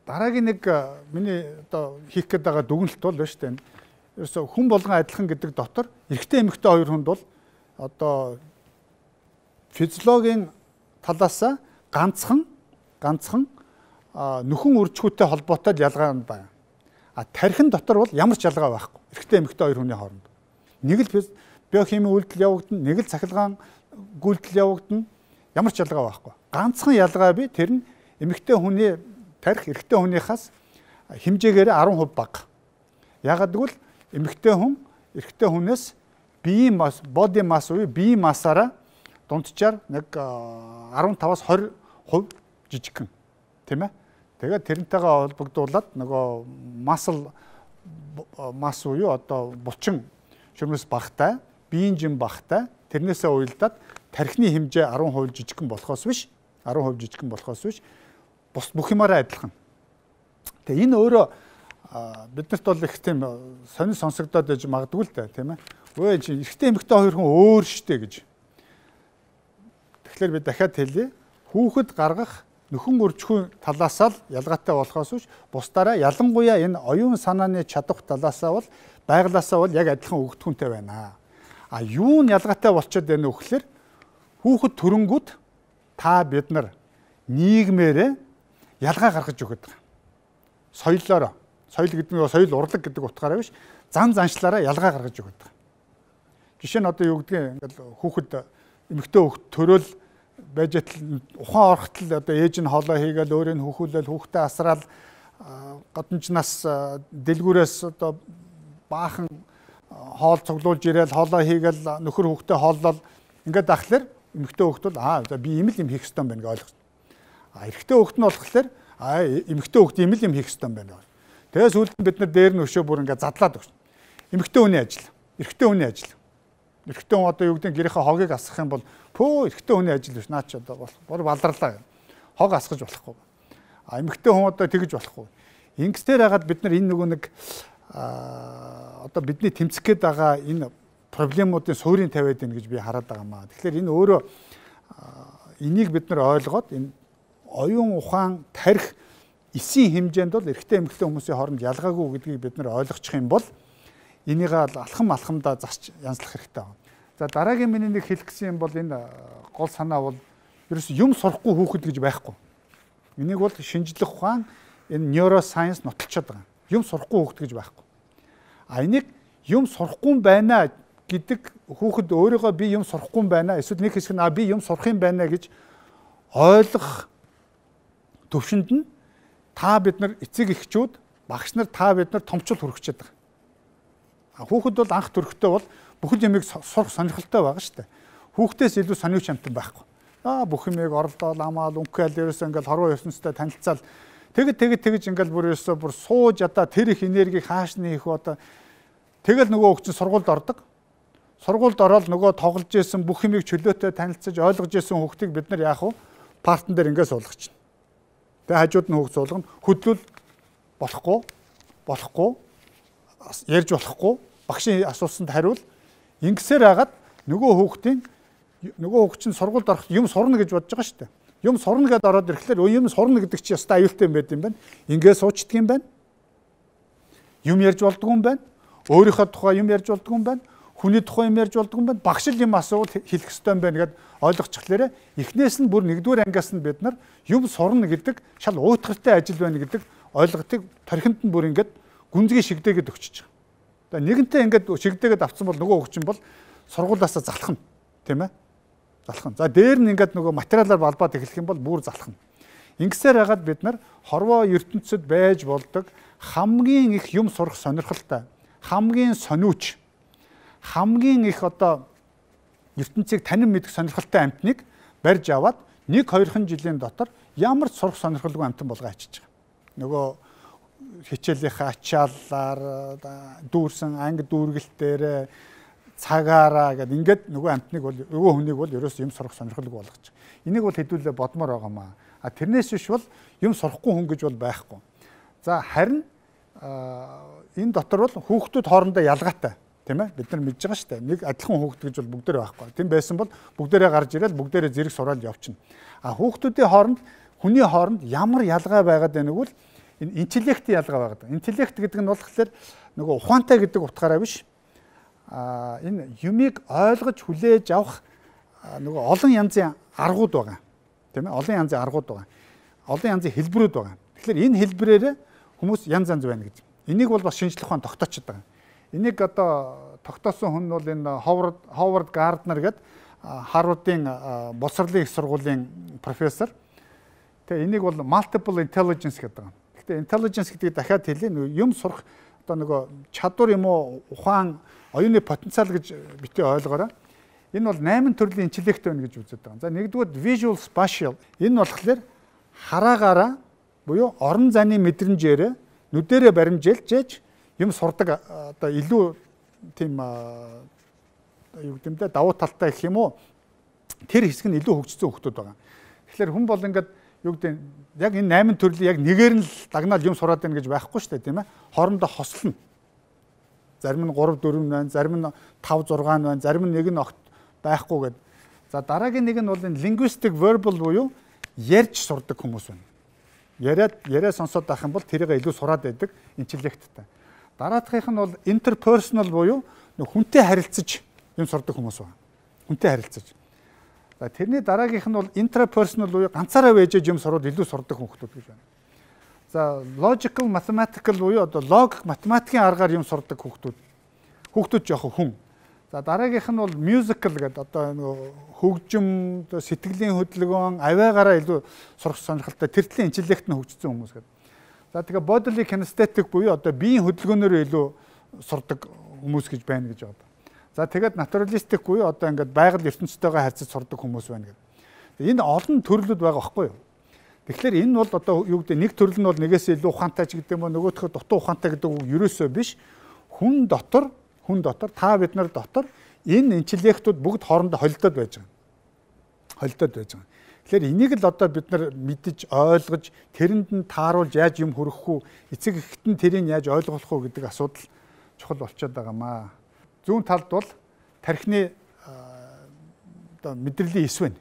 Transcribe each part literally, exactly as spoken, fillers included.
дараагийн нэг миний одоо хийх гээд байгаа дүгнэлт бол байна шүү дээ. Ерөөсө хүн болгон адилхан гэдэг дотор эрэгтэй эмэгтэй хоёр хүнд бол одоо физиологийн талаас ганцхан ганцхан нөхөн үржихүйтэй холбоотой ялгаа байна. А тархин дотор бол ямар ч ялгаа байхгүй. Эрэгтэй эмэгтэй хоёр хүний хооронд. Нэг л биохимийн үйлдэл явагдана, нэг л цахилгаан гүйдэл явагдана. Ямар ч ялгаа байхгүй. Ганцхан ялгаа бий. Тэр нь эмэгтэй хүний тарих эрэгтэй хүнийхээс хэмжээгээр арван хувь бага. Ягаад гэвэл эмэгтэй хүн эрэгтэй хүнээс биеийн масс, body mass уу биеийн массаараа дунджаар нэг арван таваас хорь хувь жижигхэн. Тийм ээ? Тэгээд тэрнтэйгээ холбогдуулаад нөгөө muscle mass уу одоо булчин шөрмөс багтай, биеийн жим багтай тэрнээсээ уялдаад тархины хэмжээ арван хувь жижигхэн болохоос биш арван хувь жижигхэн болохоос биш бус бүх юмараа адилхан. Тэгээ энэ өөрөө биднэрт бол их тийм сонир сонсогдоод байж магадгүй л дээ тийм ээ. Өө чи эрэгтэй эмэгтэй хоёр хүн өөр штэ гэж. Тэгэхээр би дахиад хэлье. Хүүхэд гаргах нөхөн үржихийн талаас л ялгаатай болохоос биш бусдаараа ялангуяа энэ оюун санааны чадвар талаасаа бол байглаасаа бол яг адилхан өгдгүнтэй байна. А юу нь ялгаатай болчиход байна вэ гэхээр хүүхэд төрөнгүүд та бид нар нийгмээрээ ялгаа гаргаж өгöd байгаа. Соёлоор соёл гэдэг нь соёл урлаг гэдэг утгаараа биш зан заншлаараа ялгаа гаргаж өгöd байгаа. Жишээ нь одоо юу гэдгийг ингээл хүүхэд эмэгтэй хүүхэд төрөөл байж ухаан орхтол одоо ээж нь хоолой хийгээл өөрийн хүүхүүлэл хүүхдээ асраал гадамжнаас дэлгүүрээс одоо баахан хоол цуглуулж ирээл хоолой хийгээл нөхөр хүүхдээ хооллол ингээд ахлаар эмэгтэй хүүхэд бол аа би ийм л юм хийх ёстой юм байна гэж ойлгосон. А эрэгтэй хүүхэд нь болохоор аа эмэгтэй хүүхэд ийм л юм хийх ёстой юм байна. Тэгээс сүүлд бид нар дээр нь өшөө бүр ингээд задлаад өгсөн. Эмэгтэй хүний ажил, эрэгтэй хүний ажил. Эрэгтэй хүн одоо юу гэдэг гэрийнхээ хогийг асгах юм бол пөө эрэгтэй хүний ажил биш наа чи одоо бол баларлаа. Хог асгаж болохгүй. А эмэгтэй хүн одоо тэгж болохгүй. Ингэстээр хагаад бид нар энэ нөгөө нэг одоо бидний тэмцэх гээд байгаа энэ проблемуудын суурийг тавиад байна гэж би хараад байгаа маа. Тэгэхээр энэ өөрөө энийг бид нар ойлгоод энэ оюун ухаан тарих эсийн хэмжээнд бол эрэгтэй эмэгтэй хүмүүсийн хооронд ялгаагүй гэдгийг бид нар ойлгочих юм бол энийг алхам алхамдаа засч янзлах хэрэгтэй байна. За дараагийн миний нэг хэлэх гэсэн юм бол энэ гол санаа бол ерөөс юм сурахгүй хүүхэд гэж байхгүй. Энийг бол шинжлэх ухаан энэ neuroscience нотолцоод байгаа. Юм сурахгүй хүүхэд гэж байхгүй. А энийг юм сурахгүй байна гэдэг хүүхэд өөрийгөө би юм сурахгүй байна. Эсвэл нэг хэсэг нь а би юм сурах юм байна гэж ойлгох төвшөнд нь та бид нар эцэг эхчүүд багш нар та бид нар томчууд хүрчээд байгаа. Хүүхэд бол анх төрөхтэй бол бүхэл юмыг сурах сонирхолтой байгаа шүү дээ. Хүүхдээс илүү сониуч амтан байхгүй. Аа бүх юмыг оролдоол амаал өнгөөл ерөөсөө ингээл хорвоо ертөнцтэй танилцаал тэгэд тэгэд тэгж ингээл бүр ерөөсөө бүр сууж одоо тэр их энергийг хааш нь хийх одоо тэгэл нөгөө хөгжин сургуульд ордог. Сургуульд ороод нөгөө тоглож исэн бүх юмыг чөлөөтэй танилцаж ойлгож исэн хүүхдийг бид нар яах вэ? Партн дээр ингээд суулгах чинь. Тэгээ хажууд нь хүүхд суулгана. Хөдлөл болохгүй болохгүй ярьж болохгүй багшийн асуусанд хариул ингэсээр хагаад нөгөө хүүхдийн нөгөө хүүхд чинь сургуульд орох юм сурна гэж бодож байгаа шүү дээ. Юм сурна гэдээ ороод ирэхлээр юм сурна гэдэг чинь ястаа аюултай юм байт юм байна. Ингээд суучдаг юм байна. Юм ярьж болдгоо юм байна. Өөрийнхөө тухай юм ярьж болдгоо юм байна. Хүний тухай юм ярьж болдгоо юм байна. Багш л юм асуувал хэлэх ёстой юм байна гэд ойлгочихлээрээ эхнээс нь бүр нэгдүгээр ангиас нь бид нар юм сурна гэдэг шал уйтгартай ажил байна гэдэг ойлголтыг тархинд нь бүр ингээд гүнзгий шигдээгээд өгчөж байгаа. За нэгэнтээ ингээд шигдээгээд авцсан бол нөгөө хөгчин бол сургуулиасаа залхна, тийм ээ? Залхна. За дээр нь ингээд нөгөө материалаар балбаад эхлэх юм бол бүр залхна. Ингэсээр хагаад бид нар хорвоо ертөнцид байж болдог хамгийн их юм сурах сонирхолтой, хамгийн сониуч, хамгийн их одоо ертөнцийг танин мэдэх сонирхолтой амтныг барьж аваад нэг хоёрхан жилийн дотор ямар ч сурах сонирхолгүй амтан болгоо ачиж байгаа. Нөгөө хичээлийнхаа ачааллаар дүүрсэн анги дүүргэлтээр цагаараа гэд ингээд нөгөө амтныг бол нөгөө хүнийг бол ерөөс юм сурах сонирхолгүй болгож байгаа. Энийг бол хэдүүлээ бодмоор байгаамаа. А тэрнээс биш бол юм сурахгүй хүн гэж бол байхгүй. За харин энэ дотор бол хүүхдүүд хоорондоо ялгаатай, тийм ээ? Бид нар мэдж байгаа шүү дээ. Нэг адилхан хүүхд гэж бол бүгдээрээ байхгүй. Тийм байсан бол бүгдээрээ гарч ирэл бүгдээрээ зэрэг сураад явчихна. А хүүхдүүдийн хооронд хүний хооронд ямар ялгаа байгаад байна вэ? Энэ интеллектийн ялгаа байгаа. Интеллект гэдэг нь болохоор нөгөө ухаантай гэдэг утгаараа биш. А энэ юмыг ойлгож хүлээж авах нөгөө олон янзын аргууд байгаа. Тийм ээ? Олон янзын аргууд байгаа. Олон янзын хэлбэрүүд байгаа. Тэгэхээр энэ хэлбэрээр хүмүүс янз янз байна гэж. Энийг бол бас шинжлэх ухаан тогтоочод байгаа. Энийг одоо тогтоосон хүн бол энэ Ховард Ховард Гарднер гэдэг Харвардын боловсролын их сургуулийн профессор. Тэгээ энийг бол multiple intelligence гэдэг байгаа. Гэхдээ intelligence гэдгийг дахиад хэлье. Юм сурах одоо нөгөө чадвар юм уу ухаан оюуны потенциал гэж битгий ойлгоорой. Энэ бол найман төрлийн интеллект байна гэж үздэг байгаа. За нэгдүгээр visual spatial. Энэ болохоор хараагаараа буюу орон зайны мэдрэмжээр нүдэрээ баримжаалж юм сурдаг одоо илүү тийм юу гэмдэ давуу талтай гэх юм уу тэр хэсэг нь илүү хөгжсөн хүмүүс байгаа. Тэгэхээр хүн бол ингээд юу гэдэг яг энэ найман төрлийн яг нэгээр нь л дагнаад юм сураад байна гэж байхгүй шүү дээ тийм ээ. Хоорондоо хослно. Зарим нь гурав дөрөв байна, зарим нь тав зураг байна, зарим нь нэг нь огт байхгүй гэдэг. За дараагийн нэг нь бол энэ linguistic verbal буюу ярьж сурдаг хүмүүс байна. Яриад яриа сонсоод байх юм бол тэрийг илүү сураад байдаг интеллекттэй. Дараагийнх нь бол interpersonal буюу хүнтэй харилцаж юм сурдаг хүмүүс байна. Хүнтэй харилцаж. За тэрний дараагийнх нь бол intrapersonal буюу ганцаараа вэжэж юм сураад илүү сурдаг хүмүүс гэж байна. За logical mathematical буюу одоо логик математикийн аргаар юм сурдаг хүмүүс. Хүмүүс жоох хүн. За дараагийнх нь бол musical гэдэг одоо нөгөө хөгжим, сэтгэлийн хөдөлгөөн, авиагаараа илүү сурах сонирхолтой тэр төрлийн интеллект нь хөгжсөн хүмүүс гэдэг. За тэгээ bodily kinesthetic буюу одоо биеийн хөдөлгөөнөөр илүү сурдаг хүмүүс гэж байна гэж байна. За тэгээд naturalistic буюу одоо ингээд байгаль ертөнцтэйгээ харьцаж сурдаг хүмүүс байна гэдэг. Энэ олон төрлүүд байгаа байхгүй юу? Тэгэхээр энэ бол одоо юу гэдэг нэг төрөл нь бол нэгээс илүү ухаантай ч гэдэг юм уу нөгөөхөө дутуу ухаантай гэдэг үг ерөөсөө биш. Хүн дотор хүн дотор та бид нар дотор энэ интеллектүүд бүгд хоорондоо холилдоод байж байгаа. Холилдоод байж байгаа. Тэгэхээр энийг л одоо бид нар мэдж ойлгож тэрэнд нь тааруулж яаж юм хүргэх үү, эцэг эхт нь тэрийг яаж ойлгох үү гэдэг асуудал чухал болчиход байгаамаа. Зүүн талд бол тархины одоо мэдрэлийн эс байна.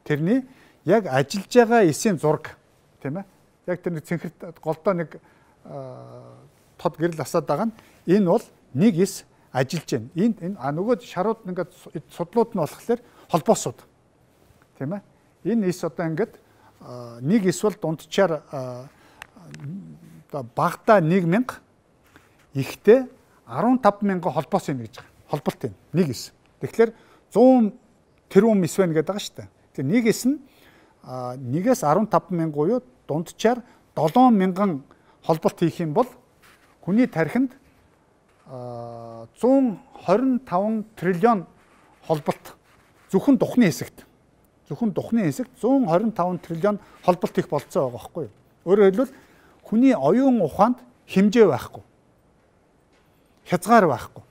Тэрний яг ажиллаж байгаа эсийн зураг тийм ээ. Яг тэр нэг цэнхэрт голдоо нэг тод гэрэл асаад байгаа нь энэ бол нэг эс ажиллаж байна. Энд энэ а нөгөө шарууд ингээд судлууд нь болохоор холбоосууд. Тийм ээ. Энэ эс одоо ингээд нэг эс бол дундчаар одоо багада нэг мянга ихтэй арван тав мянган холбоос байна гэж байгаа. Холболт юм. Нэг эс. Тэгэхээр зуун тэрбум эс байна гэдэг байгаа шүү дээ. Тэгэхээр нэг эс нь нэгээс арван тав мянган буюу дундчаар долоон мянган холболт хийх юм бол хүний тархинд зуун хорин таван триллион холболт зөвхөн духны хэсэгт зөвхөн духны хэсэгт зуун хорин таван триллион холболт их болцоо байгаа байхгүй юу? Өөрөөр хэлбэл хүний оюун ухаанд хэмжээ байхгүй. Хязгаар байхгүй.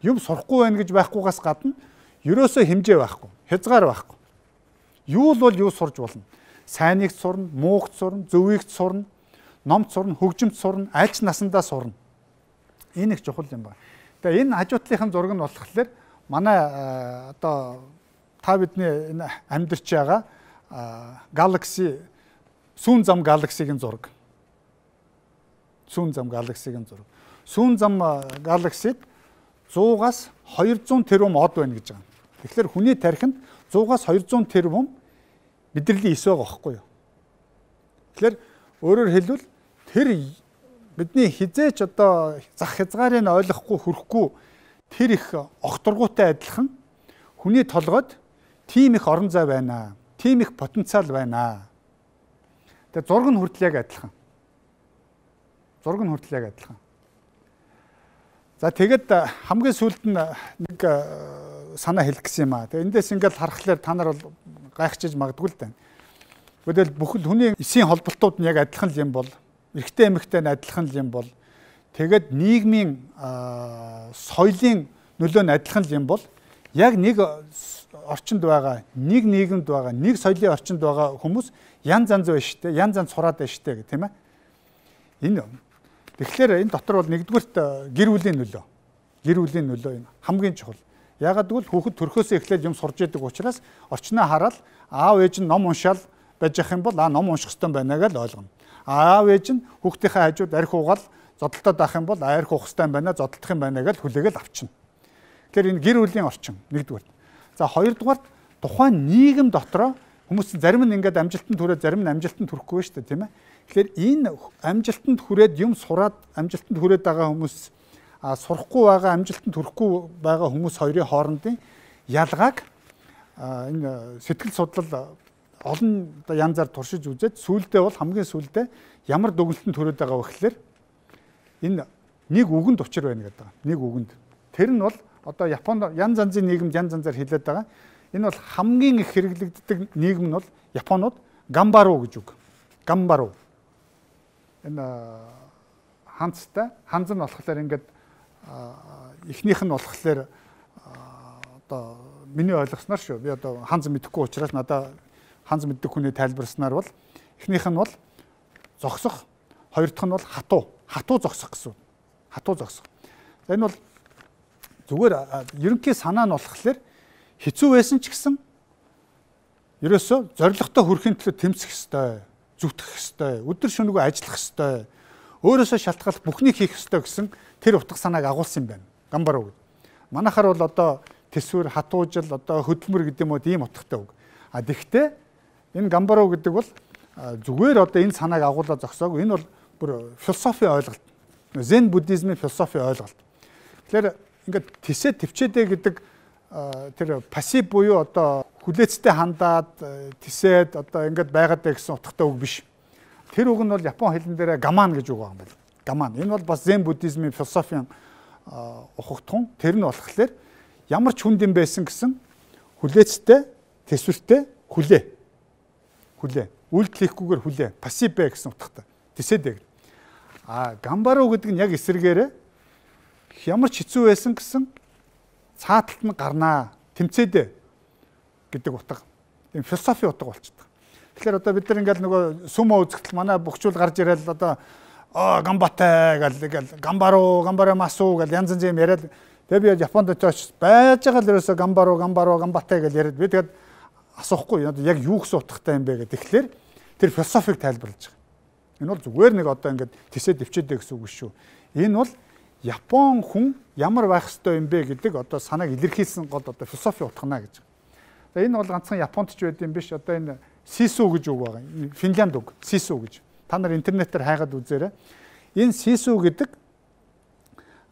Юм сурахгүй байна гэж байхгүйгаас гадна ерөөсөө хэмжээ байхгүй. Хязгаар байхгүй. Юу л бол юу сурж болно. Сайныг сурна, муугт сурна, зөвийг сурна, номт сурна, хөгжимт сурна, альч насандаа сурна. Энэ их чухал юм байна. Тэгээ энэ хажуутлынхын зураг нь болохоор манай одоо та бидний энэ амьдарч байгаа Galaxy сүүн зам Galaxy-гийн зураг. Сүүн зам Galaxy-гийн зураг. Сүүн зам Galaxy-д суугаас хоёр зуун тэрбум од байна гэж байгаа. Тэгэхээр хүний тархинд суугаас хоёр зуун тэрбум мэдрэлийн эс байгаа байхгүй юу? Тэгэхээр өөрөөр хэлбэл тэр бидний хизээч одоо зах хязгаарыг ойлгохгүй хүрхгүй тэр их огторгуутай адилхан хүний толгойд тийм их орон зай байна. Тийм их потенциал байна. Тэгээ зураг нь хүртэл яг адилхан. Зураг нь хүртэл яг адилхан. За тэгэд хамгийн сүүлд нь нэг санаа хэлэх гэсэн юм аа. Тэгээ эндээс ингээд харахаар та нар бол гайхчихж магадгүй л дээ. Гэхдээ бүхэл хүний эсийн холболтууд нь яг адилхан юм бол, эрэгтэй эмэгтэй нь адилхан юм бол, тэгээд нийгмийн соёлын нөлөө нь адилхан юм бол яг нэг орчинд байгаа, нэг нийгэмд байгаа, нэг соёлын орчинд байгаа хүмүүс янз янз байна шүү дээ. Янз янз сураад байна шүү дээ гэх тийм ээ. Энэ тэгэхээр энэ дотор бол нэгдүгürt гэр бүлийн нөлөө. Гэр бүлийн нөлөө энэ хамгийн чухал. Яагаад гэвэл хүүхэд төрхөөсөө эхлээд юм сурж яадаг учраас орчноо хараад аав ээж нь ном уншаал байж ах юм бол аа ном унших хэрэгтэй байна гэж ойлгоно. Аав ээж нь хүүхдийнхээ хажууд арх уугаал зодтолтой байх юм бол арх уух хэрэгтэй юм байна, зодтолдох юм байна гэж хүлээгээл авчна. Тэгэхээр энэ гэр бүлийн орчин нэгдүгээр. За хоёрдугаар тухайн нийгэм дотроо хүмүүс зарим нь ингээд амжилтанд хүрээд зарим нь амжилтанд хүрэхгүй шүү дээ, тийм ээ. Тэгэхээр энэ амжилтанд хүрээд юм сураад амжилтанд хүрээд байгаа хүмүүс а сурахгүй байгаа амжилтанд хүрэхгүй байгаа хүмүүс хоёрын хоорондын ялгааг энэ сэтгэл судлал олон янзаар туршиж үзээд сүүлдээ бол хамгийн сүүлдээ ямар дүгнэлтэнд хүрээд байгаа вэ гэхээр энэ нэг үгэнд учир байна гэдэг. Нэг үгэнд. Тэр нь бол одоо Японд янз янзын нийгэмд янз янзаар хэлээд байгаа. Энэ бол хамгийн их хэрэглэгддэг нийгэм нь бол Японууд гамбару гэж үг. Гамбару. Энэ ханцтай, ханз нь болохоор ингээд эхнийх нь болохоор одоо миний ойлгосноор шүү. Би одоо ханз мэдэхгүй учраас надад ханз мэддэг хүний тайлбарснаар бол эхнийх нь бол зогсох, хоёр дахь нь бол хатуу. Хатуу зогсох гэсэн. Хатуу зогсох. За энэ бол зүгээр ерөнхий санаа нь болохоор хэцүү байсан ч гэсэн ерөөсөө зорилготой хүрэхин төлөө тэмцэх ёстой, зүтгэх ёстой, өдөр шөнөгүй ажиллах ёстой, өөрөөсөө шалтгаалах бүхнийг хийх ёстой гэсэн тэр утга санааг агуулсан юм байна. Гамбару гэдэг. Манайхаар бол одоо тэсвэр, хатуужил, одоо хөдөлмөр гэдэг юм уу ийм утгатай үг. А тэгвэл энэ гамбару гэдэг бол зүгээр одоо энэ санааг агуулаад зогсоогүй. Энэ бол бүр философи ойлголт. Зен буддизмын философи ойлголт. Тэгэхээр ингээд тисээ төвчээдэ гэдэг тэр пассив буюу одоо хүлээцтэй хандаад тисээд одоо ингээд байгаад байгаа гэсэн утгатай үг биш. Тэр үг нь бол Япон хэлэн дээр гаман гэж үг байгаа юм байна. Гаман. Энэ бол бас зен буддизмын философийн ухагтхан. Тэр нь болохоор ямар ч хүнд юм байсан гэсэн хүлээцтэй, тэсвэртэй хүлээ. Хүлээ. Үйлдэл хийхгүйгээр хүлээ. Пассив бай гэсэн утгатай. Тисээд. А гамбару гэдэг нь яг эсрэгээрээ ямар ч хэцүү байсан гэсэн цааталт нь гарнаа, тэмцээдэ гэдэг утга. Энэ философи утга болчихдог. Тэгэхээр одоо бид нар ингээл нөгөө сумо үзэгдэл манай бөхчүүл гарч ирэл одоо аа гамбатай гэл гамбару, гамбара масу гэл янз янз юм яриад тэгээ би Японд очиж байж байгаа л ерөөсө гамбару, гамбару, гамбатай гэл яриад би тэгээд асуухгүй одоо яг юу гэсэн утгатай юм бэ гэдэг. Тэгэхээр тэр философиг тайлбарлаж байгаа. Энэ бол зүгээр нэг одоо ингээд тисээ дэвчээдэ гэсэн үг шүү. Энэ бол Япон хүн ямар байх ёстой юм бэ гэдэг одоо санааг илэрхийлсэн гол одоо философи утгана гэж. За энэ бол ганцхан Японд ч байд юм биш. Одоо энэ сису гэж үг байгаа. Финлянд үг сису гэж. Та нар интернетээр хайгаад үзээрэй. Энэ сису гэдэг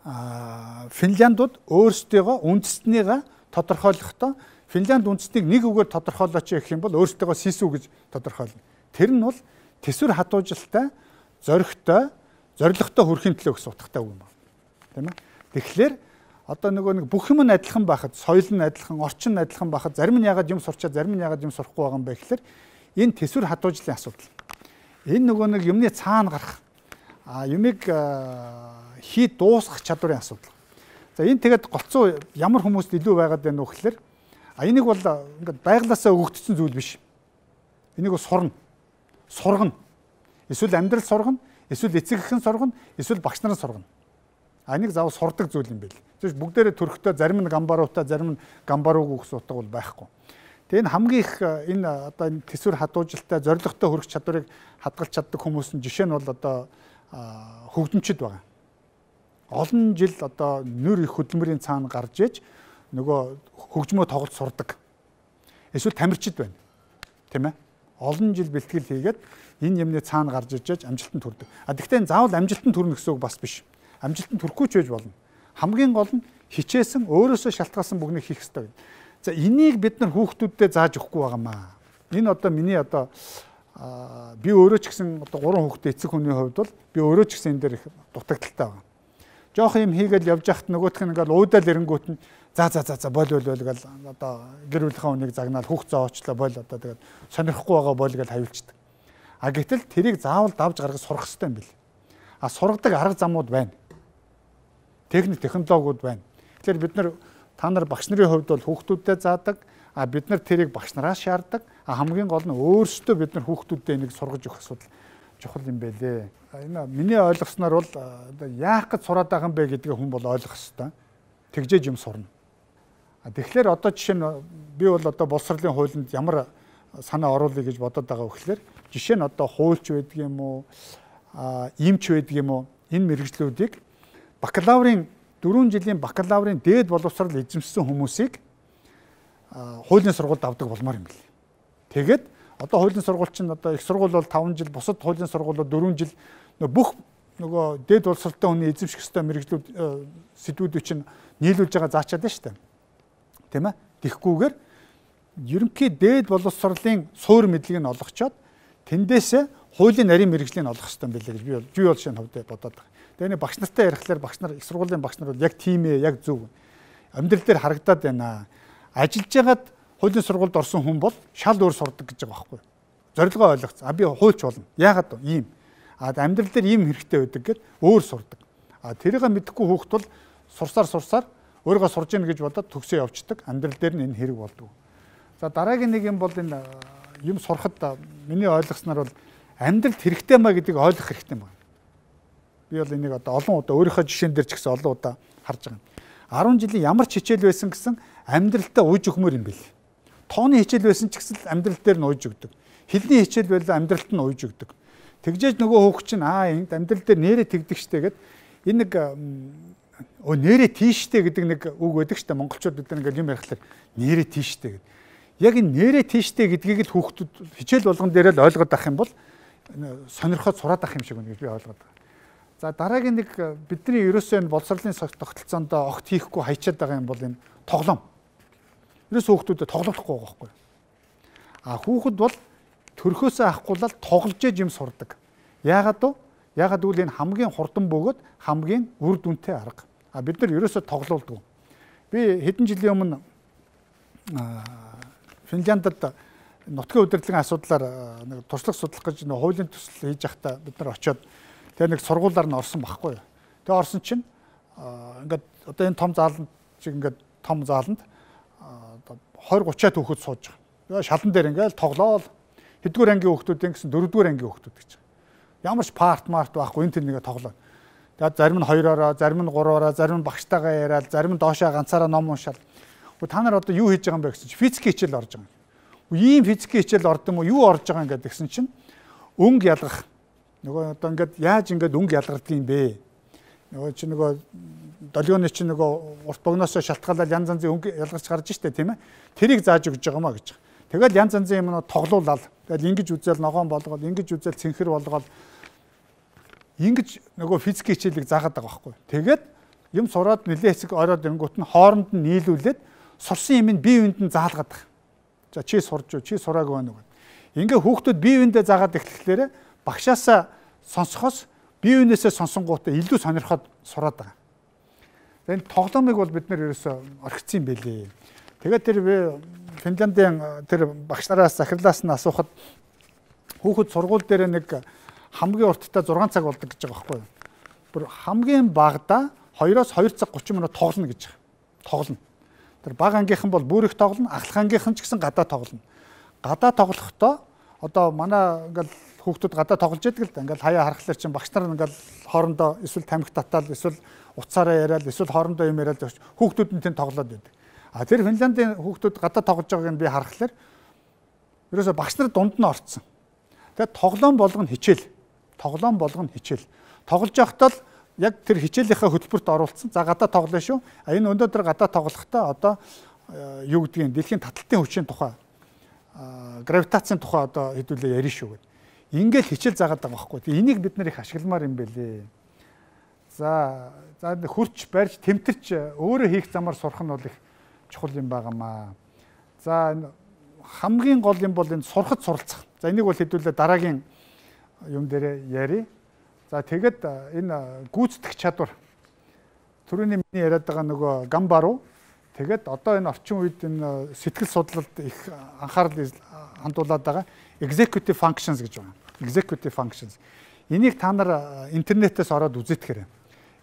а Финляндууд өөрсдийгөө үндэстнийгаа тодорхойлохдоо Финлянд үндэстнийг нэг үгээр тодорхойлооч гэх юм бол өөрсдийгөө сису гэж тодорхойлно. Тэр нь бол тэсвэр хатуужилтай, зоригтой, зоригтой хүрэхин төлөө гэсэн утгатай үг юм байна. Тийм ээ. Тэгэхээр одоо нөгөө нэг бүх юм нь адилхан байхад, соёл нь адилхан, орчин нь адилхан байхад зарим нь ягаад юм сурчаад зарим нь ягаад юм сурахгүй байгаа юм бэ гэхээр энэ тэсвэр хатуужлын асуудал. Энэ нөгөө нэг юмны цаана гарах а юмыг хий дуусгах чадварын асуудал. За энэ тэгээд голцоо ямар хүмүүст илүү байгаад байна вэ гэхээр а энийг бол ингээд байглаасаа өгөгдсөн зүйл биш. Энийг сурна. Сургана. Эсвэл амьдрал сургана, эсвэл эцэг эхэн сургана, эсвэл багш нарын сургана. А энийг заавал сурдаг зүйл юм байл. Зөв бүгдээрээ төрхтөө зарим нь гамбаруутай, зарим нь гамбаруугүй гэсэн утга бол байхгүй. Тэгээ энэ хамгийн их энэ одоо энэ тэсвэр хатуужилтай, зорилготой хүрэх чадварыг хадгалж чаддаг хүмүүсийн жишээ нь бол одоо хөгжимчд байгаа. Олон жил одоо нөр их хөдөлмөрийн цаана гарч иж нөгөө хөгжмөө тоглож сурдаг. Эсвэл тамирчид байна. Тийм ээ. Олон жил бэлтгэл хийгээд энэ юмны цаана гарч ижиж амжилтанд хүрдэг. А тэгвэл энэ заавал амжилтанд хүрнэ гэсэн үг бас биш. Амжилтанд хүрэхгүй ч байж болно. Хамгийн гол нь хичээсэн, өөрөөсөө шалтгаалсан бүгнийг хийх ёстой. За энийг бид нар хүүхдүүддээ зааж өгөхгүй байгаамаа. Энэ одоо миний одоо би өөрөө ч гэсэн одоо гурван хүүхдээ эцэг хүний хувьд бол би өөрөө ч гэсэн энэ дээр их дутагдaltaй байна. Жоох юм хийгээл явж яхад нөгөөх нь ингээл уудаал ирэнгүүт нь за за за за бойл бойл бойл гэл одоо гэр бүлийнхээ хүнийг загнаал хүүхд зоочлоо бойл одоо тэгээд сонирхгүй байгаа бойл гэл хавилчдаг. А гэтэл тэрийг заавал давж гаргаж сурах хэрэгтэй юм бэл. А сургадаг арга замууд байна. Техник технологиуд байна. Тэгэхээр бид нар та нар багш нарын хувьд бол хүүхдүүдэд заадаг, а бид нар тэрийг багш нараас шаарддаг. А хамгийн гол нь өөрсдөө бид нар хүүхдүүдэд энийг сургаж өгөх асуудал чухал юм байлээ. Энэ миний ойлгосноор бол яах гэж сураад байгаа юм бэ гэдгийг хүн бол ойлгох хэрэгтэй. Тэгжээж юм сурна. А тэгэхээр одоо жишээ нь би бол одоо боловсролын хуулинд ямар санаа оруулъя гэж бодоод байгаа вэ гэхээр Жишээ нь одоо хуульч байдаг юм уу, эмч байдаг юм уу? Энэ мэргэжлүүдийг бакалаврын дөрвөн жилийн бакалаврын дээд боловсрол эзэмшсэн хүмүүсийг хуулийн сургуульд авдаг болмоор юм бэл. Тэгээд одоо хуулийн сургууль чинь одоо их сургууль бол таван жил, бусад хуулийн сургуулиуд дөрвөн жил бүх нөгөө дээд боловсролтой хүний эзэмших ёстой мэргэжлүүд сэдвүүдийг чинь нийлүүлж байгаа заачаад байна шүү дээ. Тийм ээ. Тэгхгүйгээр ерөнхий дээд боловсролын суур мэдлэгийг нь олгочоод тэндээсээ хуулийн нарийн мэргэжлийг олох хэрэгтэй юм билээ гэж би бол би бол шинэ хувьд бодоод байгаа. Тэгээ нэг багш нартай ярихлаар багш нар их сургуулийн багш нар бол яг тийм ээ, яг зөв. Амьдрал дээр харагдаад байна. Ажиллаж байгаад хуулийн сургуульд орсон хүн бол шал өөр сурдаг гэж байгаа байхгүй юу? Зорилгоо ойлгоцсон. А би хуульч болно. Яагаад вэ? Ийм. А амьдрал дээр ийм хэрэгтэй байдаг гэд өөр сурдаг. А тэрийг мэдэхгүй хүүхэд бол сурсаар сурсаар өөрийгөө сурж ийн гэж бодоод төгсөө явцдаг. Амьдрал дээр нь энэ хэрэг болдог. За дараагийн нэг юм бол энэ юм сурахад миний ойлгосноор бол амьдралд хэрэгтэй маа гэдгийг ойлгох хэрэгтэй юм байна. Би бол энийг одоо олон удаа өөрийнхөө жишээн дээр ч гэсэн олон удаа харж байгаа юм. арван жилийн ямар ч хичээл байсан гэсэн амьдралтаа ууж өгмөр юм бэл. Тооны хичээл байсан ч гэсэн амьдрал дээр нь ууж өгдөг. Хэлний хичээл байл амьдралд нь ууж өгдөг. Тэгжээж нөгөө хөөх чинь аа энд амьдрал дээр нэрээ тэгдэг штэ гэд энэ нэг өө нэрээ тийштэй гэдэг нэг үг байдаг штэ монголчууд бид нэг юм ярихлаар нэрээ тийштэй гэд. Яг энэ нэрээ тийштэй гэдгийг л хүүхдүүд хичээл болгон дээр л ойлгоод авах юм бол сонирхоод сураад авах юм шиг байна гэж би ойлгоод байгаа. За дараагийн нэг бидний ерөөсөө энэ боловсролын тогтолцоонд огт хийхгүй хайчаад байгаа юм бол энэ тоглоом. Ерөөсөө хүүхдүүдэд тоглохгүй байгаа байхгүй. А хүүхэд бол төрхөөсөө авахгүй л тоглож юм сурдаг. Яагаад вэ? Яагаад гэвэл энэ хамгийн хурдан бөгөөд хамгийн үр дүнтэй арга. А бид нар ерөөсөө тоглоулдаг. Би хэдэн жилийн өмнө Финляндд нутгийн удирдлагын асуудлаар нэг туршлага судлах гэж нэг хуулийн төсөл хийж байхдаа бид нар очиод тэгээ нэг сургуулиар нь орсон байхгүй юу. Тэгээ орсон чинь ингээд одоо энэ том зааланд шиг ингээд том зааланд двадцать тридцать хүүхэд сууж байгаа. Тэгээ шалан дээр ингээд тоглоол хэдгээр ангийн хүүхдүүд гэсэн дөрөвдүгээр ангийн хүүхдүүд гэж. Ямар ч парт март байхгүй энэ тэр нэгэ тоглоо. Тэгээд зарим нь хоёроо, зарим нь гурваараа, зарим нь багштайгаа яриад, зарим нь доошоо ганцаараа ном уншаал. Та нар одоо юу хийж байгаа юм бэ гэсэн чинь физик хичээл орж байгаа юм. Ийм физик хичээл орд юм уу? Юу орж байгаа юм гэдэг гэсэн чинь өнгө ялгах. Нөгөө одоо ингээд яаж ингээд өнгө ялгардаг юм бэ? Нөгөө чи нөгөө долгионы чи нөгөө урт богноосоо шалтгаалаад янз янзын өнгө ялгарч гарч штэ тийм ээ. Тэрийг зааж өгч байгаа маа гэж. Тэгэл янз янзын юмнууд тоглоулаад тэгэл ингэж үзэл ногоон болгоод ингэж үзэл цэнхэр болгоод ингэж нөгөө физик хичээлийг заагаад байгаа байхгүй. Тэгээд юм сураад нэлээ хэсэг ороод ирэнгүүт нь хооронд нь нийлүүлээд сурсан юм нь бие биед нь заалгаад байгаа. За чи сурж юу, чи сураагүй байна уу. Ингээ хүүхдүүд бие биендээ заагаад эхлэхлээр багшаасаа сонсохоос бие биенээсээ сонсонгуудаа илүү сонирхоод сураад байгаа. Энэ тоглоомыг бол бид нэр ерөөсөө орхицсан юм байлээ. Тэгээд тэр Финляндийн тэр багш нараас захирлаас нь асуухад хүүхэд сургууль дээр нэг хамгийн урттай зургаан цаг болдог гэж байгаа байхгүй юу. Бүр хамгийн багадаа хоёроос хоёр цаг гучин минут тоглоно гэж байгаа. Тоглоно. Тэр бага ангийнхан бол бүр их тоглоно, ахлах ангийнхан ч гэсэн гадаа тоглоно. Гадаа тоглохдоо одоо манай ингээл хүүхдүүд гадаа тоглож яадаг л да. Ингээл хаяа харахлаар чинь багш нар ингээл хоорондоо эсвэл тамхи татаал, эсвэл уцаараа яриад, эсвэл хоорондоо юм яриад хүүхдүүд нь тэнд тоглоод байдаг. А тэр Финляндийн хүүхдүүд гадаа тоглож байгааг нь би харахлаар ерөөсө багш нар дунд нь орцсон. Тэгээд тоглоом болгоно хичээл. Тоглоом болгоно хичээл. Тоглож байхдаа л яг тэр хичээлийнхаа хөтөлбөрт оруулсан. За гадаа тоглоно шүү. А энэ өнөөдөр гадаа тоглохдоо одоо юу гэдгийг дэлхийн таталтын хүчийн тухай гравитацийн тухай одоо хэдүүлээ ярина шүү гэдэг. Ингээл хичээл заагаад байгаа байхгүй. Тэгээ энийг бид нар их ашигламаар юм бэлээ. За за хурч барьж тэмтэрч өөрөө хийх замаар сурах нь бол их чухал юм байнамаа. За хамгийн гол юм бол энэ сурахад суралцах. За энийг бол хэдүүлээ дараагийн юм дээр ярий. За тэгэд энэ гүйцэтгэх чадвар түрүүний миний яриад байгаа нөгөө гамбаруу тэгэд одоо энэ орчин үед энэ сэтгэл судлалд их анхаарал хандуулад байгаа executive functions гэж байна. Executive functions. Энийг та нар интернетээс ороод үзээтгэхэр.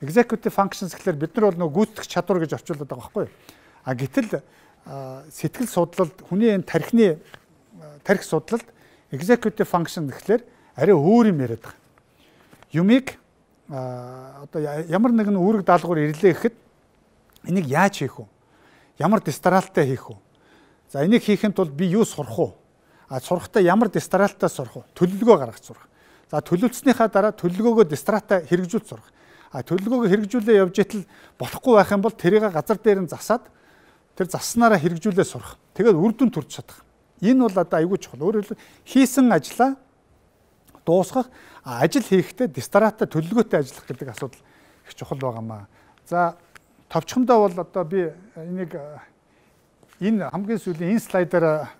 Executive functions гэхэлэр бид нар бол нөгөө гүйцэтгэх чадвар гэж орчуулдаг байгаа байхгүй юу? А гэтэл сэтгэл судлалд хүний энэ тархины тархи судлалд executive function гэхэлэр арай өөр юм яриад байгаа. Юмыг одоо ямар нэгэн үүрэг даалгавар ирлээ гэхэд энийг яаж хийх вэ? Ямар дистралтай хийх вэ? За энийг хийхэд бол би юу сурах вэ? А сурахтаа ямар дистратаа сурах вэ? Төлөвлөгөө гаргаж сурах. За төлөвлөснийхаа дараа төлөвлөгөөгөө дистратаа хэрэгжүүлж сурах. А төлөвлөгөөгөө хэрэгжүүлээ явж итэл болохгүй байх юм бол тэрийг газар дээр нь засаад тэр засснараа хэрэгжүүлээ сурах. Тэгээд үр дүн төрж чадах. Энэ бол одоо аюул чухал. Өөрөөр хэлбэл хийсэн ажлаа дуусгах, ажил хийхдээ дистратаа төлөвлөгөөтэй ажиллах гэдэг асуудал их чухал байгаамаа. За товчхондоо бол одоо би энийг энэ хамгийн сүүлийн энэ слайдаар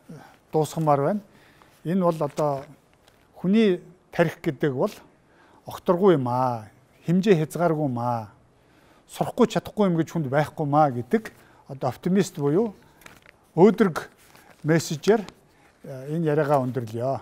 дуусгамаар байна. Энэ бол одоо хүний тарих гэдэг бол огторгүй юм аа. Хэмжээ хязгааргүй юм аа. Сурахгүй чадахгүй юм гэж хүнд байхгүй маа гэдэг одоо оптимист буюу өөдрөг мессежээр энэ яриагаа өндөрлөё.